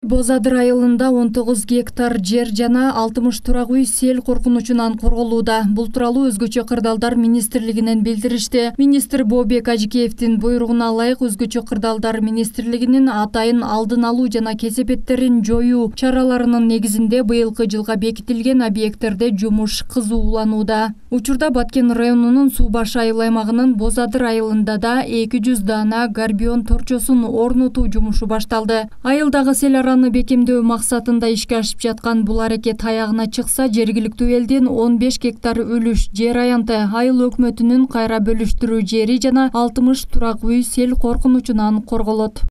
Боз Адыр айылында 19 гектар жер жана 60 турак үй сел коркунучунан корголууда. Бул тууралуу Өзгөчө кырдаалдар министрлигинен билдиришти. Министр Бообек Ажикеевдин буйругуна ылайык Өзгөчө кырдаалдар министрлигинин атайын алдын алуу жана кесепеттерин жоюу чараларынын негизинде быйылкы жылга бекитилген объекттерде жумуш кызууланууда. Учурда Баткен районунун Суу Башы айыл аймагынын Боз Адыр айылында да 200 дана горбион торчосун орнотуу жумушу башталды. Айылдагы сел араны бекемдөө максатында ишке ашып жаткан бул аракет аягына чыкса, жергиликтүү элдин 15 гектар үлүш жер аянты айыл өкмөтүнүн кайра бөлүштүрүү жери жана 60 турак үй сел коркунучунан корголот.